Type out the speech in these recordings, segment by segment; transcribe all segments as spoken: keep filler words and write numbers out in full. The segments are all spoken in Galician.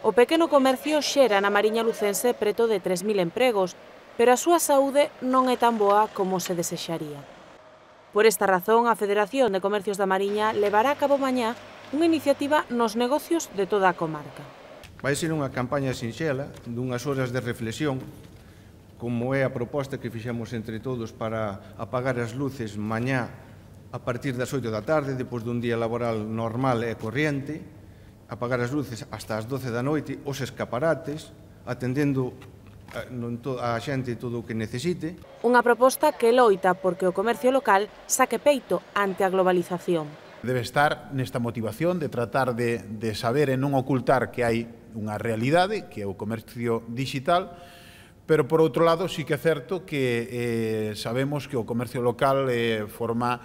O pequeno comercio xera na Mariña lucense preto de tres mil empregos, pero a súa saúde non é tan boa como se desexaría. Por esta razón, a Federación de Comercios da Mariña levará a cabo mañá unha iniciativa nos negocios de toda a comarca. Vai ser unha campaña sinxela, dunhas horas de reflexión, como é a proposta que fixemos entre todos para apagar as luces mañá a partir das oito da tarde, depois dun día laboral normal e corriente, apagar as luces hasta as doce da noite, os escaparates, atendendo a xente todo o que necesite. Unha proposta que loita porque o comercio local saque peito ante a globalización. Debe estar nesta motivación de tratar de, de saber e non ocultar que hai unha realidade, que é o comercio digital, pero por outro lado sí que é certo que eh, sabemos que o comercio local eh, forma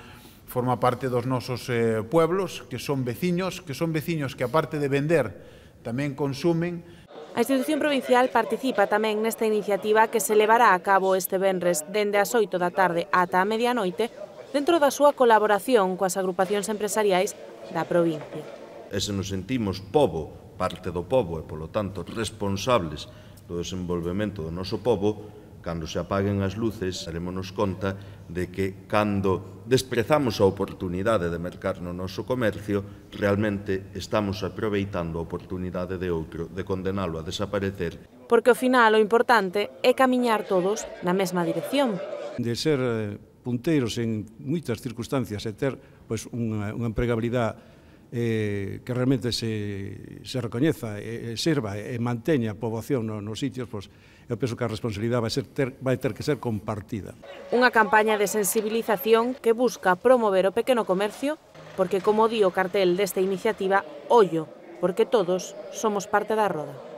forma parte dos nosos eh, pueblos, que son veciños, que son veciños que aparte de vender tamén consumen. A institución provincial participa tamén nesta iniciativa que se levará a cabo este venres dende as oito da tarde ata a medianoite dentro da súa colaboración coas agrupacións empresariais da provincia. E se nos sentimos pobo, parte do pobo e, polo tanto, responsables do desenvolvemento do noso pobo, cando se apaguen as luces, darémonos conta de que, cando desprezamos a oportunidade de mercar no noso comercio, realmente estamos aproveitando a oportunidade de outro, de condenalo a desaparecer. Porque, ao final, o importante é camiñar todos na mesma dirección. De ser punteiros en moitas circunstancias e ter pois, unha, unha empregabilidade eh, que realmente se, se recoñeza, e, e sirva e manteña a poboación no, nos sitios, pois, eu penso que a responsabilidade vai, ser ter, vai ter que ser compartida. Unha campaña de sensibilización que busca promover o pequeno comercio porque, como di o cartel desta iniciativa, ollo, porque todos somos parte da roda.